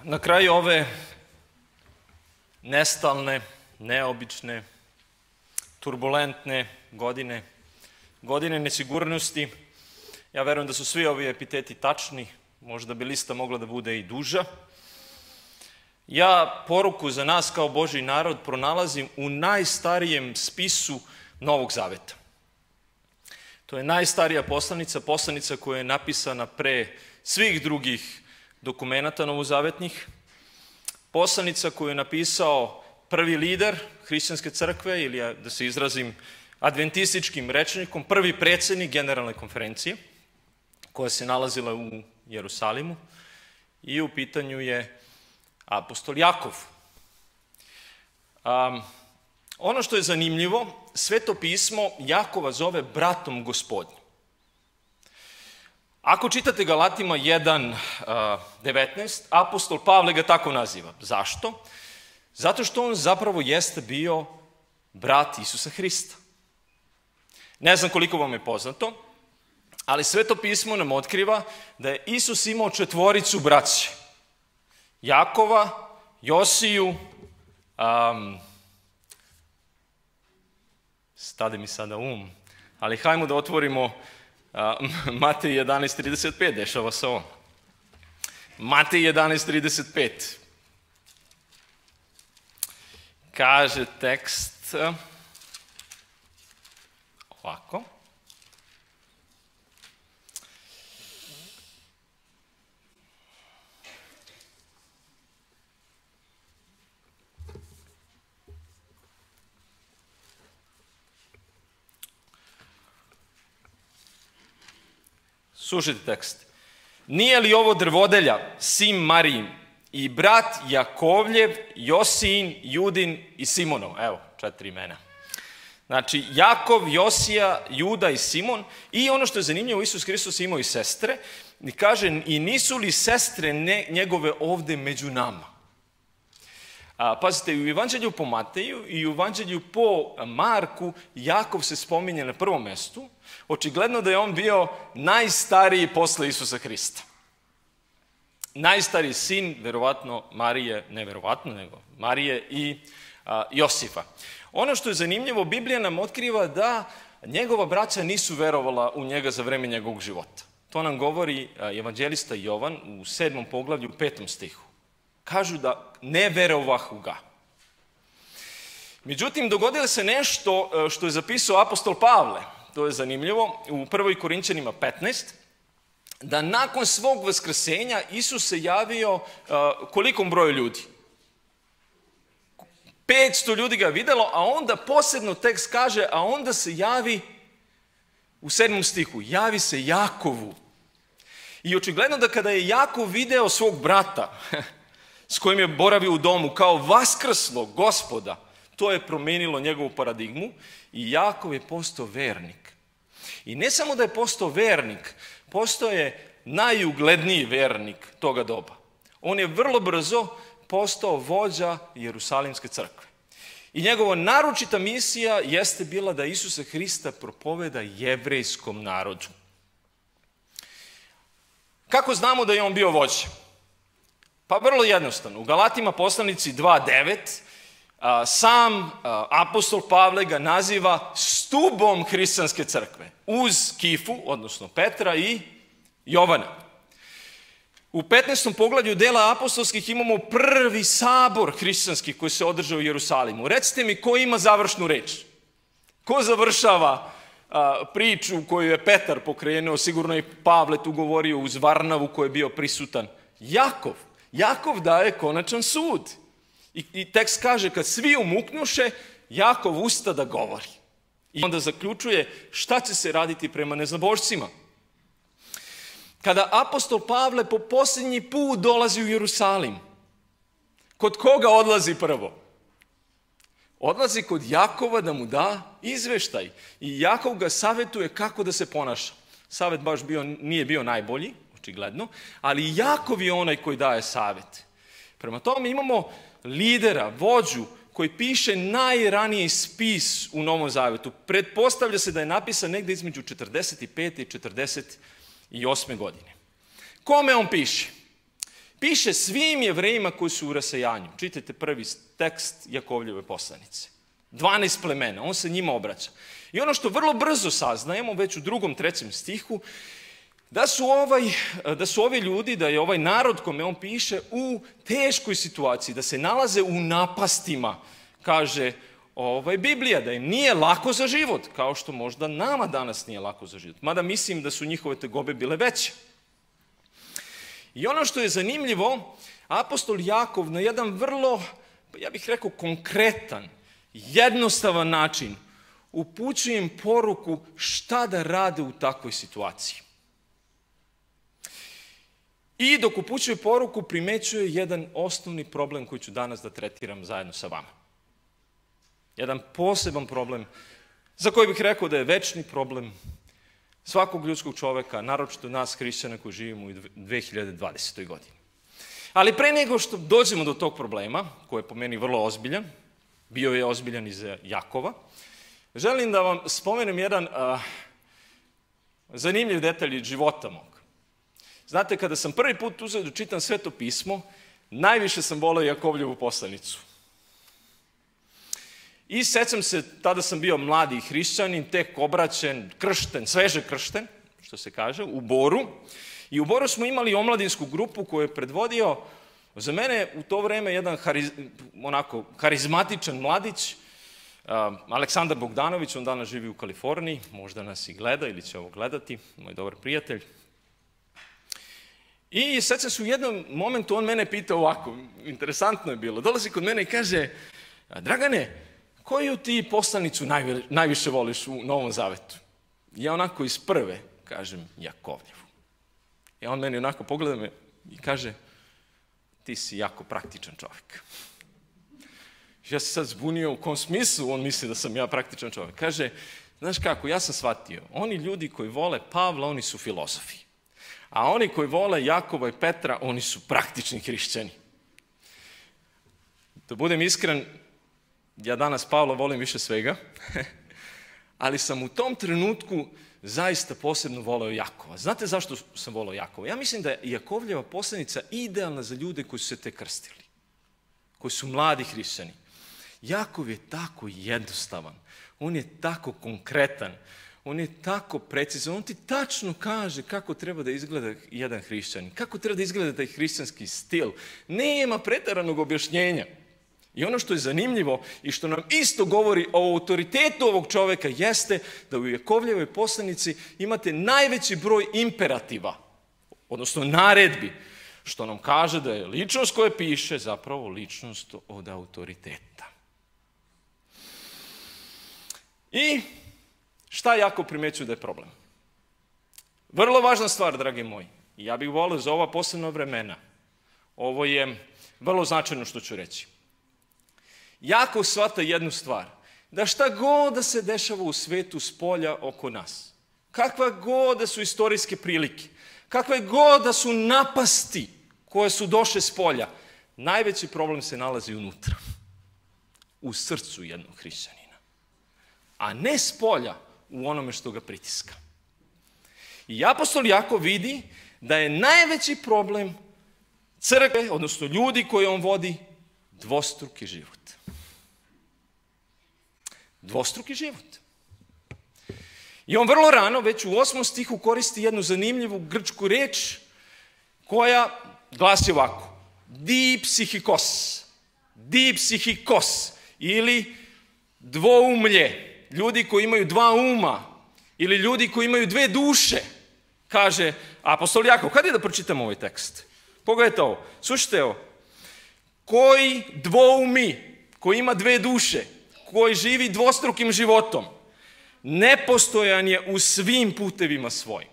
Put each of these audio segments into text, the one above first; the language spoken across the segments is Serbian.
Na kraju ove nestalne, neobične, turbulentne godine nesigurnosti, ja verujem da su svi ovi epiteti tačni, možda bi lista mogla da bude i duža. Ja poruku za nas kao Božji narod pronalazim u najstarijem spisu Novog Zaveta. To je najstarija poslanica koja je napisana pre svih drugih dokumenata novozavetnih. Poslanica koju je napisao prvi lider hrišćanske crkve, ili da se izrazim adventističkim rečnikom, prvi predsednik generalne konferencije, koja se nalazila u Jerusalimu, i u pitanju je apostol Jakov. Ono što je zanimljivo, Sveto pismo Jakova zove bratom Gospodnjim. Ako čitate Galatima 1:19, apostol Pavle ga tako naziva. Zašto? Zato što on zapravo jeste bio brat Isusa Hrista. Ne znam koliko vam je poznato, ali Sveto pismo nam otkriva da je Isus imao 4 braće. Jakova, Josiju, stade mi sada ali hajmo da otvorimo Matej 11:35, dešava se ovo. Matej 11:35. Kaže tekst ovako. Slušajte tekst. Nije li ovo drvodelja, sin Marijin, i brat Jakovljev, Josijin, Judin i Simonov? Evo, 4 imena. Znači, Jakov, Josija, Juda i Simon. I ono što je zanimljivo, Isus Hristos imao i sestre. I kaže, i nisu li sestre njegove ovde među nama? Pazite, u Evanđelju po Mateju i u Evanđelju po Marku Jakov se spominje na prvom mestu. Očigledno da je on bio najstariji posle Isusa Hrista. Najstariji sin, verovatno Marije, ne verovatno, nego Marije i Josifa. Ono što je zanimljivo, Biblija nam otkriva da njegova braća nisu verovala u njega za vreme njegovog života. To nam govori evanđelista Jovan u 7. poglavlju, u 5. stihu. Kažu da ne verovahu ga. Međutim, dogodilo se nešto što je zapisao apostol Pavle. To je zanimljivo, u 1. Korinćanima 15, da nakon svog vaskrsenja Isus se javio kolikom broju ljudi? 500 ljudi ga je videlo, a onda posebno tekst kaže, a onda se javi u 7. stihu, javi se Jakovu. I očigledno da kada je Jakov video svog brata, s kojim je boravio u domu, kao vaskrslog Gospoda, to je promenilo njegovu paradigmu i Jakov je postao vernik. I ne samo da je postao vernik, postao je najugledniji vernik toga doba. On je vrlo brzo postao vođa Jerusalimske crkve. I njegova naročita misija jeste bila da Isusa Hrista propoveda jevrejskom narodu. Kako znamo da je on bio vođa? Pa vrlo jednostavno. U Galatima poslanici 2:9 sam apostol Pavle ga naziva stubom hrišćanske crkve, uz Kifu, odnosno Petra i Jovana. U 15. poglavlju dela apostolskih imamo prvi sabor hrišćanski koji se održao u Jerusalimu. Recite mi, ko ima završnu reč? Ko završava priču koju je Petar pokrenuo, sigurno i Pavle tu govorio uz Varnavu koji je bio prisutan? Jakov. Jakov daje konačan sud. I tekst kaže, kad svi umuknuše, Jakov usta da govori. I onda zaključuje šta će se raditi prema neznabošcima. Kada apostol Pavle po posljednji put dolazi u Jerusalim, kod koga odlazi prvo? Odlazi kod Jakova da mu da izveštaj. I Jakov ga savjetuje kako da se ponaša. Savjet baš nije bio najbolji, očigledno, ali Jakov je onaj koji daje savjet. Prema tome imamo lidera, vođu, koji piše najraniji spis u Novom Zavetu. Pretpostavlja se da je napisan negde između 45. i 48. godine. Kome on piše? piše svim Jevrejima koji su u rasejanju. Čitajte prvi tekst Jakovljeve poslanice. 12 plemena, on se njima obraća. I ono što vrlo brzo saznajemo, već u 2., 3. stihu, da su ovi ljudi, da je ovaj narod kome on piše u teškoj situaciji, da se nalaze u napastima, kaže Biblija, da im nije lako za život, kao što možda nama danas nije lako za život. Mada mislim da su njihove tegobe bile veće. I ono što je zanimljivo, apostol Jakov na jedan vrlo, ja bih rekao, konkretan, jednostavan način upućuje im poruku šta da rade u takvoj situaciji. I dok upućuje poruku, primećuje jedan osnovni problem koji ću danas da tretiram zajedno sa vama. Jedan poseban problem za koji bih rekao da je večni problem svakog ljudskog čoveka, naročito nas hrišćana koji živimo u 2020. godini. Ali pre nego što dođemo do tog problema, koji je po meni vrlo ozbiljan, bio je ozbiljan i za Jakova, želim da vam spomenem jedan zanimljiv detalj iz života mog. Znate, kada sam prvi put uzeo da čitam Sveto pismo, najviše sam voleo Jakovljevu poslanicu. I sećam se, tada sam bio mladi hrišćanin, tek obraćen, kršten, sveže kršten, što se kaže, u Boru. I u Boru smo imali omladinsku grupu koju je predvodio, za mene u to vreme, jedan karizmatičan mladić, Aleksandar Bogdanović, on danas živi u Kaliforniji, možda nas i gleda ili će ovo gledati, moj dobar prijatelj. I sećam se u jednom momentu, on mene pitao ovako, interesantno je bilo, dolazi kod mene i kaže, Dragane, koju ti poslanicu najviše voliš u Novom Zavetu? Ja onako iz prve kažem Jakovljevu. I on meni onako pogleda me i kaže, ti si jako praktičan čovjek. Ja se sad zbunio u kom smislu on misli da sam ja praktičan čovjek. Kaže, znaš kako, ja sam shvatio, oni ljudi koji vole Pavla, oni su filozofi. A oni koji vole Jakova i Petra, oni su praktični hrišćani. Da budem iskren, ja danas Pavla volim više svega, ali sam u tom trenutku zaista posebno voleo Jakova. Znate zašto sam voleo Jakova? Ja mislim da je Jakovljeva poslanica idealna za ljude koji su se tek krstili, koji su mladi hrišćani. Jakov je tako jednostavan, on je tako konkretan, on je tako precizan, on ti tačno kaže kako treba da izgleda jedan hrišćanin, kako treba da izgleda taj hrišćanski stil. Nema preteranog objašnjenja. I ono što je zanimljivo i što nam isto govori o autoritetu ovog čoveka jeste da u Jakovljevoj poslanici imate najveći broj imperativa, odnosno naredbi, što nam kaže da je ličnost koja piše zapravo ličnost od autoriteta. I šta Jakov primećuje da je problem? Vrlo važna stvar, dragi moji. I ja bih volio za ova posebna vremena. Ovo je vrlo značajno što ću reći. Jakov shvata jednu stvar, da šta god da se dešava u svetu spolja oko nas, kakva god da su istorijske prilike, kakve god da su napasti koje su došle spolja, najveći problem se nalazi unutra, u srcu jednog hrišćanina, a ne spolja u onome što ga pritiska. I apostol Jakov vidi da je najveći problem crkve, odnosno ljudi koje on vodi, dvostruki život. Dvostruki život. I on vrlo rano, već u 8. stihu, koristi jednu zanimljivu grčku reč koja glasi ovako. Dipsihikos. Dipsihikos. Ili dvoumlje. Ljudi koji imaju dva uma. Ili ljudi koji imaju dve duše. Kaže apostol Jakov. Kada je da pročitamo ovaj tekst? Pogledajte ovo. Slušajte ovo. Koji dvoumi, koji ima dve duše, koji živi dvostrukim životom, nepostojan je u svim putevima svojim.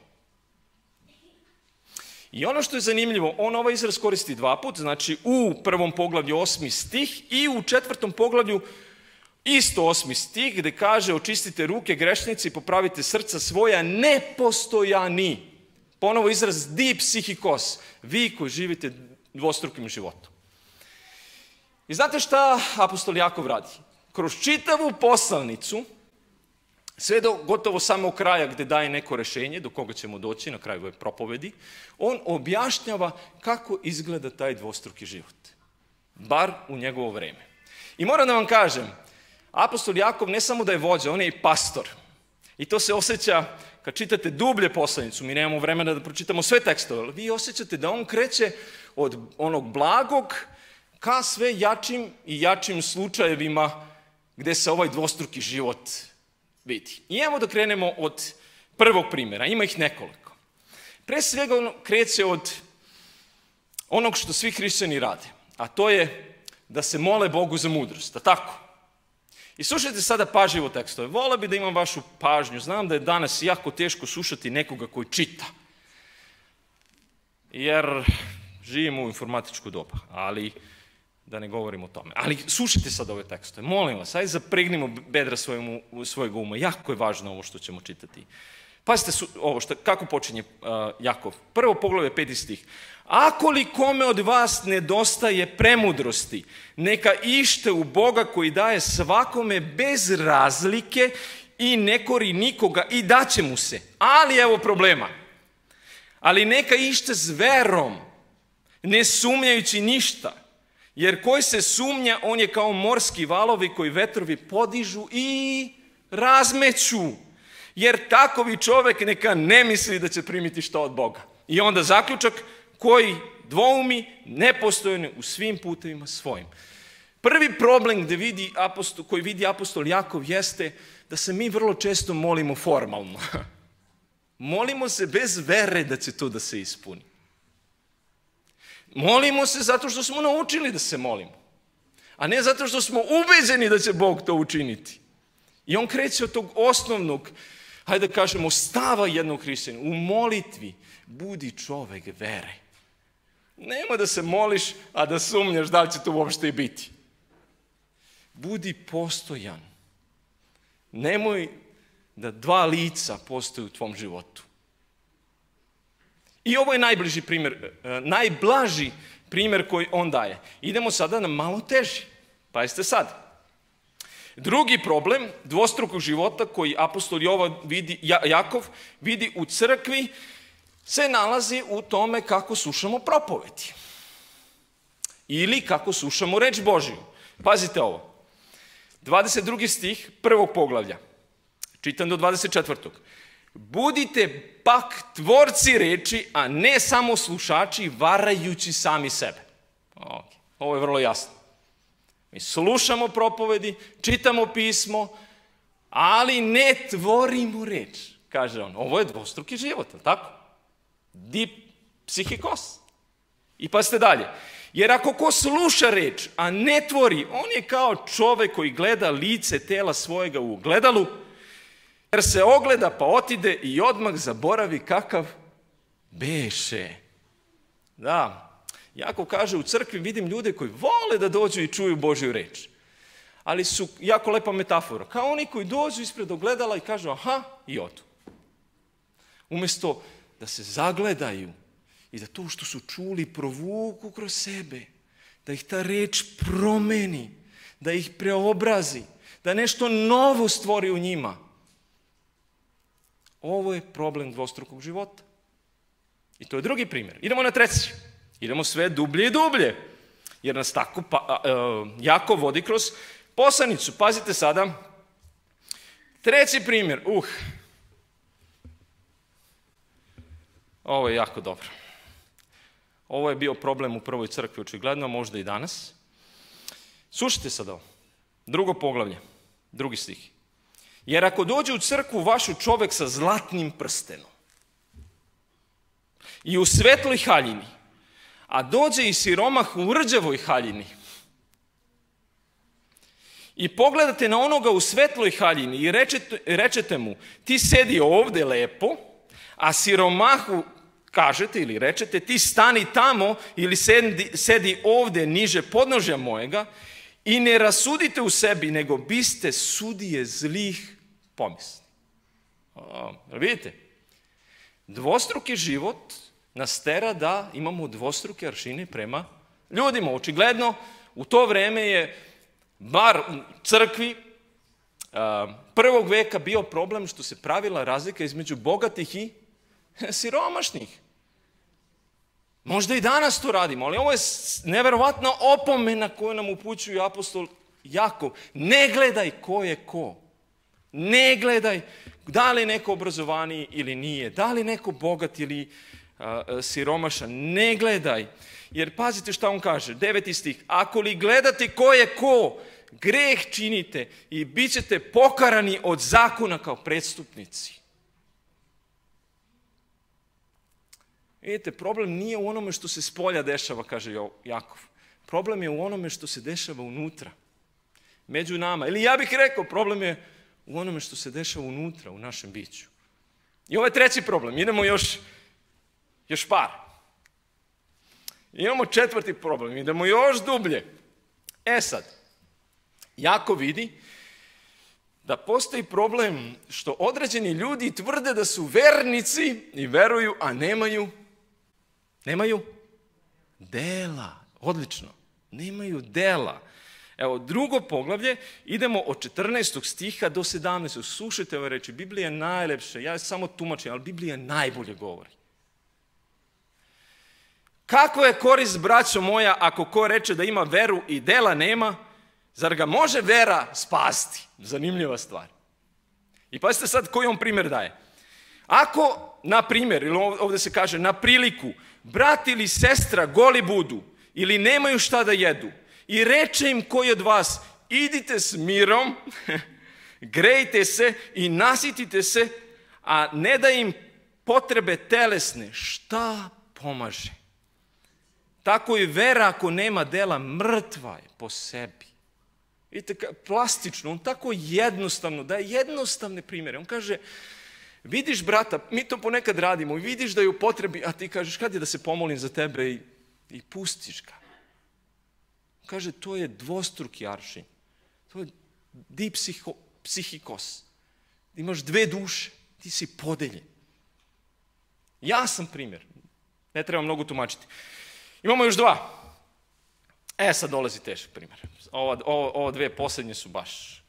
I ono što je zanimljivo, on ovaj izraz koristi 2 puta, znači u 1. poglavlju 8. stih i u 4. poglavlju isto 8. stih, gde kaže očistite ruke grešnici, popravite srca svoja, nepostojani. Ponovo izraz dipsihikos, vi koji živite dvostrukim životom. I znate šta apostol Jakov radi? Kroz čitavu poslanicu sve do gotovo samog kraja gdje daje neko rješenje, do koga ćemo doći na kraju ove propovedi, on objašnjava kako izgleda taj dvostruki život. Bar u njegovo vrijeme. I moram da vam kažem, apostol Jakov ne samo da je vođa, on je i pastor. I to se osjeća kad čitate dublje poslanicu, mi nemamo vremena da pročitamo sve tekstove, ali vi osjećate da on kreće od onog blagog ka sve jačim i jačim slučajevima gdje se ovaj dvostruki život vidi. I evo da krenemo od prvog primjera, ima ih nekoliko. Pre svega on kreće od onog što svi hrišćani rade, a to je da se mole Bogu za mudrost, a tako? I slušajte sada pažljivo tekstove. Vole bi da imam vašu pažnju. Znam da je danas jako teško slušati nekoga koji čita. Jer živimo u informatičku dobu, ali da ne govorim o tome. Ali slušajte sad ove tekstove. Molim vas, ajde zapregnimo bedra svojeg uma. Jako je važno ovo što ćemo čitati. Pazite ovo, kako počinje Jakov. Prvo poglavlje 5. stih. Ako li kome od vas nedostaje premudrosti, neka ište u Boga koji daje svakome bez razlike i ne kori nikoga i daće mu se. Ali evo problema. Ali neka ište s verom, ne sumnjajući ništa. Jer koji se sumnja, on je kao morski valovi koji vetrovi podižu i razmeću. Jer takovi čovjek neka ne misli da će primiti što od Boga. I onda zaključak, koji dvoumi, nepostojne u svim putevima svojim. Prvi problem koji vidi apostol Jakov jeste da se mi vrlo često molimo formalno. Molimo se bez vere da će to da se ispuni. Molimo se zato što smo naučili da se molimo, a ne zato što smo ubeđeni da će Bog to učiniti. I on kreće od tog osnovnog, hajde da kažemo, stava jednog hrišćanina. U molitvi budi čovek vere. Nema da se moliš, a da sumnjaš da li će to uopšte i biti. Budi postojan. Nemoj da dva lica postoje u tvom životu. I ovo je najblaži primjer koji on daje. Idemo sada na malo teži. Pazite sad. Drugi problem dvostrukog života koji apostol Jakov vidi u crkvi se nalazi u tome kako slušamo propovedi. Ili kako slušamo reč Božiju. Pazite ovo. 22. stih prvog poglavlja. Čitam do 24. Budite pak tvorci reči, a ne samo slušači, varajući sami sebe. Ovo je vrlo jasno. Mi slušamo propovedi, čitamo pismo, ali ne tvorimo reč, kaže on. Ovo je dvostruki život, tako? Psihikos. I pazite dalje. Jer ako ko sluša reč, a ne tvori, on je kao čovek koji gleda lice tela svojega u ogledalu, jer se ogleda pa otide i odmah zaboravi kakav beše. Da, Jakov kaže u crkvi vidim ljude koji vole da dođu i čuju Božju reč. Ali su jako lepa metafora. Kao oni koji dođu ispred ogledala i kažu aha i odu. Umjesto da se zagledaju i da to što su čuli provuku kroz sebe, da ih ta reč promeni, da ih preobrazi, da nešto novo stvori u njima. Ovo je problem dvostrukog života. I to je drugi primjer. Idemo na treći. Idemo sve dublje i dublje. Jer nas tako Jakov vodi kroz poslanicu. Pazite sada. Treći primjer. Ovo je jako dobro. Ovo je bio problem u prvoj crkvi, očigledno, možda i danas. Slušajte sad ovo. Drugo poglavlje. 2. stih. Jer ako dođe u crkvu vašu čovek sa zlatnim prstenom i u svetloj haljini, a dođe i siromah u rđavoj haljini i pogledate na onoga u svetloj haljini i rečete mu ti sedi ovde lepo, a siromahu kažete ili rečete ti stani tamo ili sedi ovde niže podnožja mojega i ne rasudite u sebi, nego biste sudije zlih pomisli. Vidite, dvostruki život nas tera da imamo dvostruke aršine prema ljudima. Očigledno, u to vreme je bar u crkvi prvog veka bio problem što se pravila razlika između bogatih i siromašnih. Možda i danas to radimo, ali ovo je neverovatna opomena koju nam upućuje apostol Jakov. Ne gledaj ko je ko. Ne gledaj da li je neko obrazovaniji ili nije, da li je neko bogat ili siromašan. Ne gledaj. Jer pazite šta on kaže, 9. stih. Ako li gledate ko je ko, greh činite i bit ćete pokarani od zakona kao prestupnici. Vidite, problem nije u onome što se spolja dešava, kaže Jakov. Problem je u onome što se dešava unutra, među nama. Ili ja bih rekao, problem je u onome što se dešava unutra, u našem biću. I ovo je treći problem. Idemo još par. Imamo četvrti problem. Idemo još dublje. Sad, Jakov vidi da postoji problem što određeni ljudi tvrde da su vernici i veruju, a nemaju dela. Odlično. Nemaju dela. Evo, drugo poglavlje, idemo od 14. stiha do 17. Slušajte ove reči, Biblija je najlepša, ja samo tumačim, ali Biblija najbolje govori. Kako je korist, braćo moja, ako ko reče da ima veru i dela nema, zar ga može vera spasti? Zanimljiva stvar. I pazite sad koji on primjer daje. Ako, na primjer, ili ovdje se kaže, na priliku, brat ili sestra goli budu ili nemaju šta da jedu i reče im koji od vas, idite s mirom, grejte se i nasitite se, a ne da im potrebe telesne, šta pomaže? Tako i vera ako nema dela, mrtva je po sebi. Vidite, plastično, on tako jednostavno, daje jednostavne primjere. On kaže, vidiš brata, mi to ponekad radimo i vidiš da je u potrebi, a ti kažeš, kad je da se pomolim za tebe i pustiš ga. Kaže, to je dvostruki aršin. To je psihikos. Imaš dve duše, ti si podeljen. Ja sam primjer, ne treba mnogo tumačiti. Imamo još dva. Sad dolazi težak primjer. Ovo dve posljednje su baš.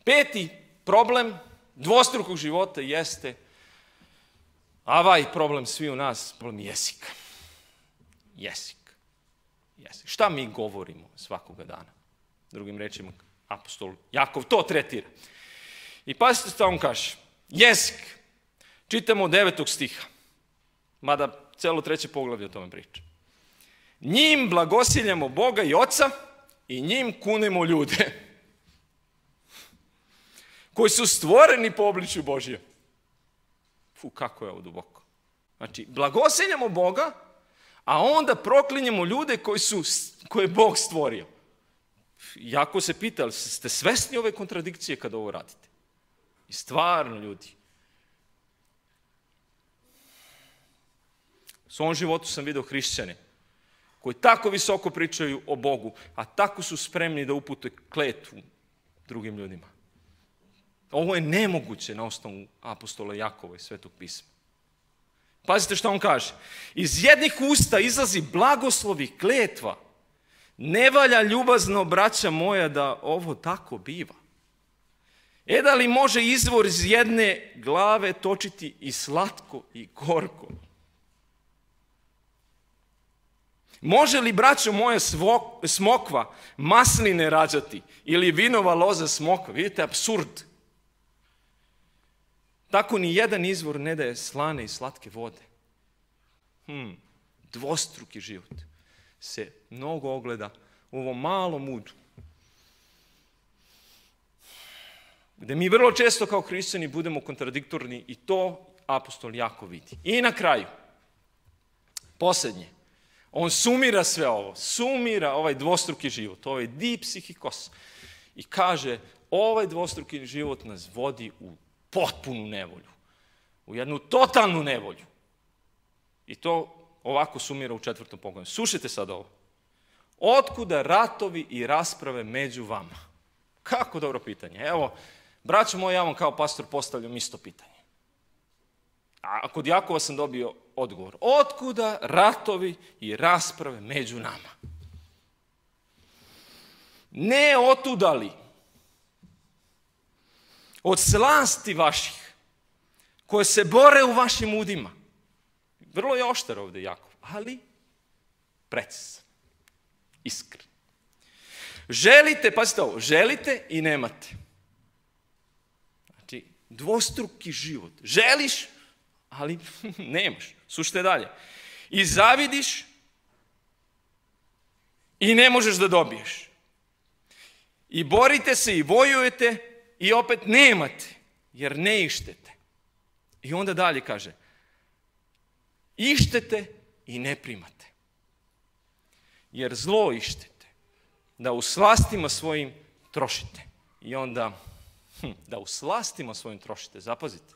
Peti problem dvostrukog života jeste, problem svi u nas, problem jezika. Jezik. Šta mi govorimo svakoga dana? Drugim rečima, apostol Jakov to tretira. I pazite što on kaže. Jezik. Čitamo od 9. stiha. Mada celo 3. poglavlje o tome priča. Njim blagosiljamo Boga i Oca i njim kunemo ljude koji su stvoreni po obličju Božjem. Kako je ovo duboko. Znači, blagosiljamo Boga, a onda proklinjemo ljude koje je Bog stvorio. Jako se pita, ste svesni ove kontradikcije kada ovo radite? I stvarno, ljudi. U svom životu sam vidio hrišćane koji tako visoko pričaju o Bogu, a tako su spremni da upute kletvu drugim ljudima. Ovo je nemoguće na osnovu apostola Jakova i Svetog pisma. Pazite što on kaže. Iz jednih usta izlazi blagoslov i kletva. Ne valja ljubazno, braća moja, da ovo tako biva. Da li može izvor iz jedne glave točiti i slatko i gorko? Može li, braćo moje, smokva masline rađati ili vinova loza smokva? Vidite, apsurd. Tako ni jedan izvor ne daje slane i slatke vode. Dvostruki život se mnogo ogleda u ovom malom udu. Gde mi vrlo često kao hrišćani budemo kontradiktorni i to apostol Jakov vidi. I na kraju, posljednje, on sumira sve ovo, sumira ovaj dvostruki život, ovaj dipsihikos i kaže, ovaj dvostruki život nas vodi u potpunu nevolju, u jednu totalnu nevolju. I to ovako sumira u 4. poglavlju. Slušajte sad ovo. Otkuda ratovi i rasprave među vama? Kako dobro pitanje. Evo, braćo moji, ja vam kao pastor postavljam isto pitanje. A kod Jakova sam dobio odgovor. Otkuda ratovi i rasprave među nama? ne otudali od slasti vaših, koje se bore u vašim udima. Vrlo je oštar ovdje Jakov, ali precizan, iskren. Želite, pazite ovo, želite i nemate. Znači, dvostruki život. Želiš, ali nemaš. Slušajte dalje. I zavidiš i ne možeš da dobiješ. I borite se i vojujete i opet nemate, jer ne ištete. I onda dalje kaže, ištete i ne primate. Jer zlo ištete, da u slastima svojim trošite. I onda, da u slastima svojim trošite, zapazite.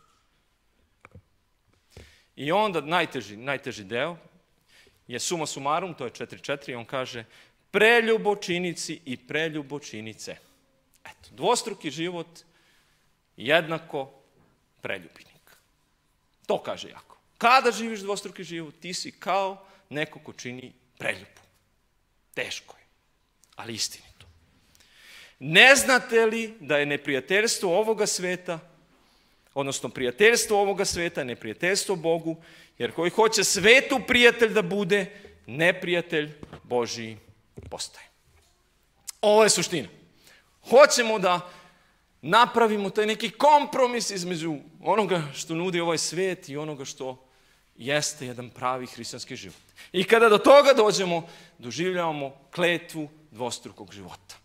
I onda najteži deo je suma sumarum, to je 4.4, i on kaže, preljubočinici i preljubočinice. Eto, dvostruki život jednako preljubnik. To kaže Jakov. Kada živiš dvostruki život, ti si kao neko ko čini preljubu. Teško je, ali istinito. Ne znate li da je neprijateljstvo ovoga sveta, odnosno prijateljstvo ovoga sveta, neprijateljstvo Bogu, jer koji hoće svetu prijatelj da bude, neprijatelj Božiji postaje. Ovo je suština. Hoćemo da napravimo taj neki kompromis između onoga što nudi ovaj svijet i onoga što jeste jedan pravi hrišćanski život. I kada do toga dođemo, doživljavamo kletvu dvostrukog života.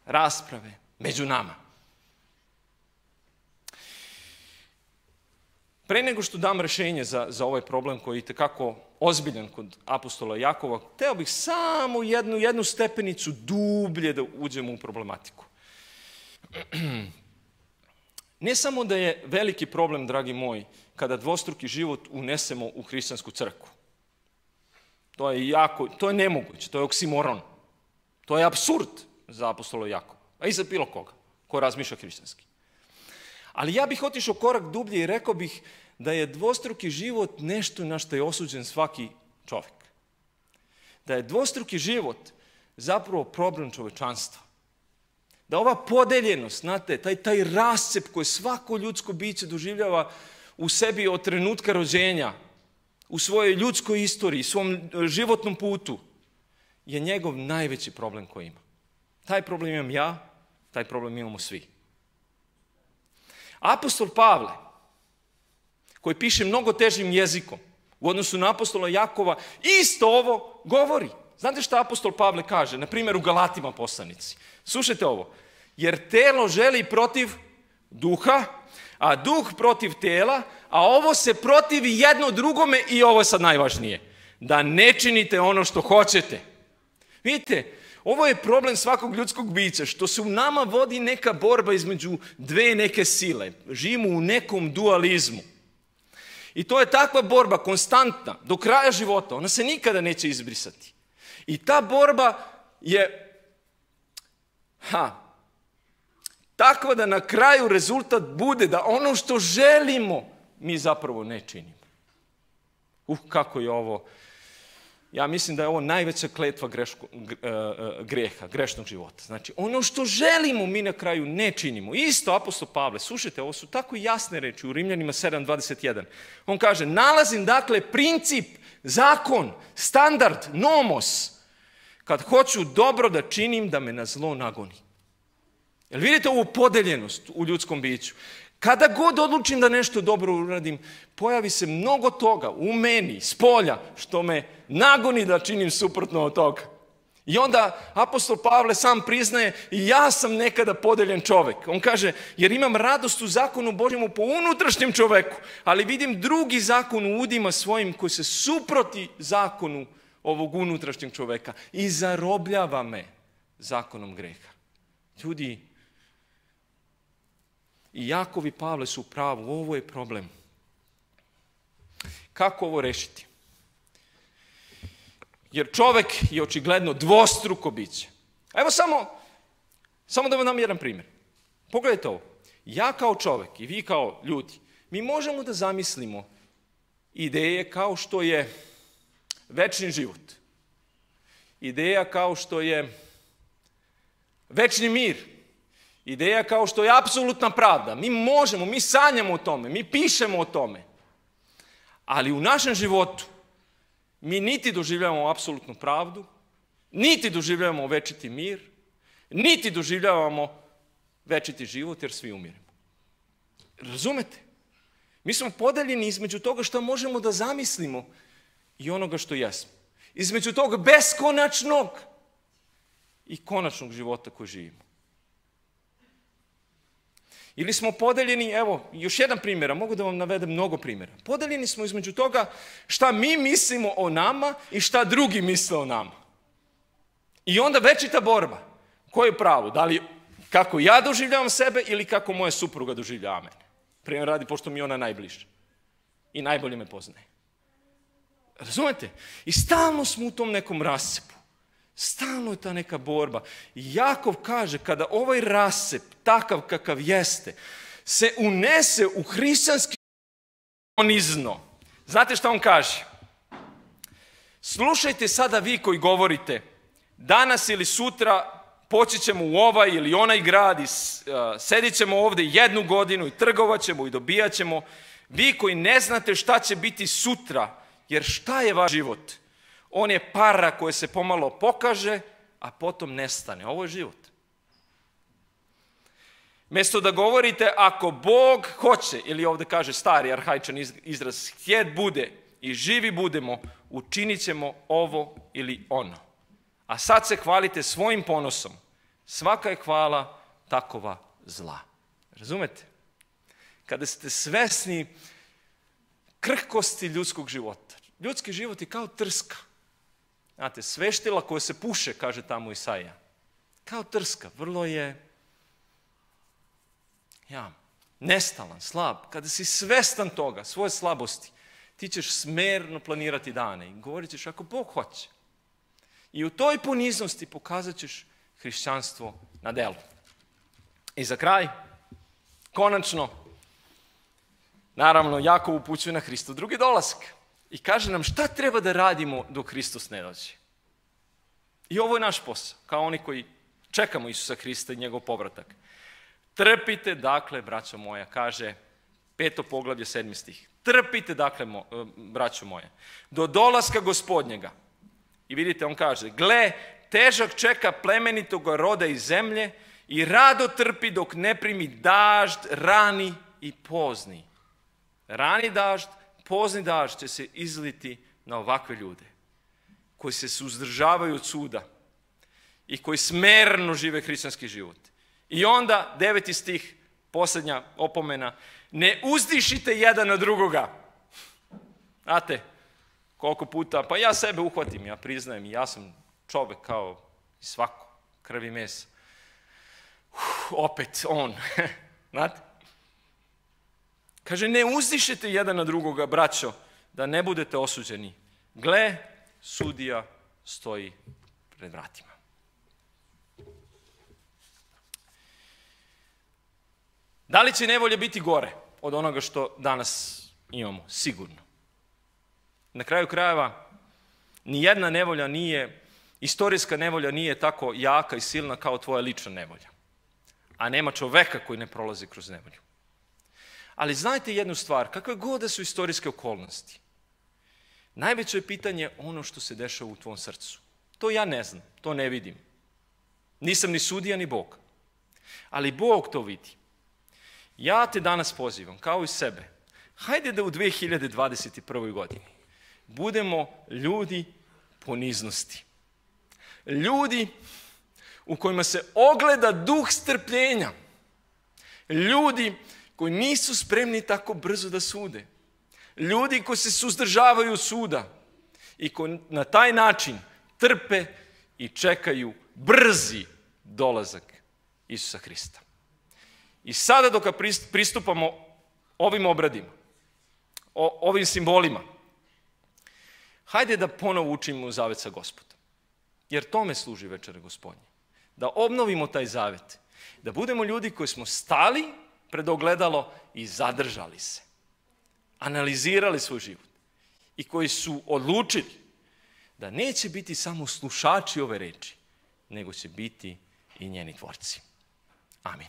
Rasprave među nama. Pre nego što dam rešenje za ovaj problem koji je itekako ozbiljan kod apostola Jakova, hteo bih samo jednu stepenicu dublje da uđemo u problematiku. Ne samo da je veliki problem, dragi moji, kada dvostruki život unesemo u hrišćansku crkvu. To je nemoguće, to je oksimoron. To je apsurd za apostola Jakova, a i za bilo koga ko razmišlja hrišćanski. Ali ja bih otišao korak dublje i rekao bih da je dvostruki život nešto na što je osuđen svaki čovjek. Da je dvostruki život zapravo problem čovečanstva. Da ova podeljenost, znate, taj rascep koji svako ljudsko biće doživljava u sebi od trenutka rođenja, u svojoj ljudskoj istoriji, svom životnom putu, je njegov najveći problem koji ima. Taj problem imam ja, taj problem imamo svi. Apostol Pavle, koji piše mnogo težim jezikom u odnosu na apostola Jakova, isto ovo govori. Znate šta apostol Pavle kaže? Na primjer u Galatima poslanici. Slušajte ovo. Jer telo želi protiv duha, a duh protiv tela, a ovo se protivi jedno drugome i ovo je sad najvažnije. Da ne činite ono što hoćete. Vidite, ovo je problem svakog ljudskog bića, što se u nama vodi neka borba između dve neke sile. Živimo u nekom dualizmu. I to je takva borba konstantna, do kraja života. Ona se nikada neće izbrisati. I ta borba je takva da na kraju rezultat bude da ono što želimo mi zapravo ne činimo. Kako je ovo. Ja mislim da je ovo najveća kletva greha, grešnog života. Znači, ono što želimo mi na kraju ne činimo. Isto apostol Pavle, slušajte, ovo su tako jasne reči u Rimljanima 7.21. On kaže, nalazim dakle princip, zakon, standard, nomos, kad hoću dobro da činim, da me na zlo nagoni. Jel vidite ovu podeljenost u ljudskom biću? Kada god odlučim da nešto dobro uradim, pojavi se mnogo toga u meni, s polja, što me nagoni da činim suprotno od toga. I onda apostol Pavle sam priznaje, i ja sam nekada podeljen čovjek. On kaže, jer imam radost u zakonu Božjemu po unutrašnjem čoveku, ali vidim drugi zakon u udima svojim koji se suproti zakonu ovog unutrašnjeg čoveka i zarobljava me zakonom greha. Ljudi, i Jakov i Pavle su u pravu, ovo je problem. Kako ovo rešiti? Jer čovjek je očigledno dvostruko biće. Evo samo da vam dam jedan primjer. Pogledajte ovo. Ja kao čovjek i vi kao ljudi, mi možemo da zamislimo ideje kao što je večni život. Ideja kao što je Večni mir. Ideja kao što je apsolutna pravda. Mi možemo, mi sanjamo o tome, mi pišemo o tome. Ali u našem životu mi niti doživljavamo apsolutnu pravdu, niti doživljavamo večiti mir, niti doživljavamo večiti život jer svi umiremo. Razumete? Mi smo podeljeni između toga što možemo da zamislimo i onoga što jesmo. Između tog beskonačnog i konačnog života koji živimo. Ili smo podeljeni, evo, još jedan primjer, a mogu da vam navedem mnogo primjera. Podeljeni smo između toga šta mi mislimo o nama i šta drugi misle o nama. I onda večita borba. Ko je pravo? Da li kako ja doživljavam sebe ili kako moja supruga doživljava mene? Primjer radi, pošto mi je ona najbliža. I najbolje me poznaje. Razumete? I stalno smo u tom nekom rasepu. Stalno je ta neka borba. I Jakov kaže, kada ovaj rasep, takav kakav jeste, se unese u hrišćanski ponizno. Znate šta on kaže? Slušajte sada vi koji govorite, danas ili sutra poći ćemo u ovaj ili onaj grad i sedit ćemo ovdje 1 godinu i trgovat ćemo i dobijat ćemo. Vi koji ne znate šta će biti sutra, jer šta je vaš život? On je para koja se pomalo pokaže, a potom nestane. Ovo je život. Mjesto da govorite, ako Bog hoće, ili ovdje kaže stari arhaičan izraz, htjet bude i živi budemo, učinit ćemo ovo ili ono. A sad se hvalite svojim ponosom. Svaka je hvala takova zla. Razumete? Kada ste svesni krhkosti ljudskog života. Ljudski život je kao trska. Znate, sveštila koja se puše, kaže tamo Isaija. Kao trska, vrlo je nestalan, slab. Kada si svestan toga, svoje slabosti, ti ćeš smerno planirati dane i govorit ćeš ako Bog hoće. I u toj poniznosti pokazat ćeš hrišćanstvo na delu. I za kraj, konačno, naravno, Jakov upućuje na Hristov drugi dolazak. I kaže nam šta treba da radimo dok Hristos ne dođe. I ovo je naš posao, kao oni koji čekamo Isusa Hrista i njegov povratak. Trpite, dakle, braćo moja, kaže 5. poglavlje 7. stih. Trpite, dakle, braćo moja, do dolaska Gospodnjega. I vidite, on kaže, gle, težak čeka plemenitog roda iz zemlje i rado trpi dok ne primi dažd, rani i pozni. Rani dažd, pozni dažd će se izliti na ovakve ljude koji se suzdržavaju od suda i koji smerno žive hrišćanski život. I onda 9. stih, posljednja opomena, ne uzdišite jedan na drugoga. Znate, koliko puta, pa ja sebe uhvatim, ja priznajem, ja sam čovjek kao i svako, krv i mesa. Opet on, znate. Kaže, ne uzdišite jedan na drugoga, braćo, da ne budete osuđeni. Gle, sudija stoji pred vratima. Da li će nevolja biti gore od onoga što danas imamo? Sigurno. Na kraju krajeva, nijedna nevolja nije, istorijska nevolja nije tako jaka i silna kao tvoja lična nevolja. A nema čoveka koji ne prolazi kroz nevolju. Ali znajte jednu stvar, kakve god da su istorijske okolnosti, najveće je pitanje ono što se dešava u tvom srcu. To ja ne znam, to ne vidim. Nisam ni sudija, ni Bog. Ali Bog to vidi. Ja te danas pozivam, kao i sebe, hajde da u 2021. godini budemo ljudi poniznosti. Ljudi u kojima se ogleda duh strpljenja. Ljudi koji nisu spremni tako brzo da sude. Ljudi koji se suzdržavaju od suda i koji na taj način trpe i čekaju brzi dolazak Isusa Hrista. I sada dok pristupamo ovim obradima, ovim simbolima, hajde da ponovo učimo zavet sa Gospodom. Jer tome služi večera Gospodnje. Da obnovimo taj zavet. Da budemo ljudi koji smo stali pred ogledalo i zadržali se. Analizirali svoj život. I koji su odlučili da neće biti samo slušači ove reči, nego će biti i njeni tvorci. Amin.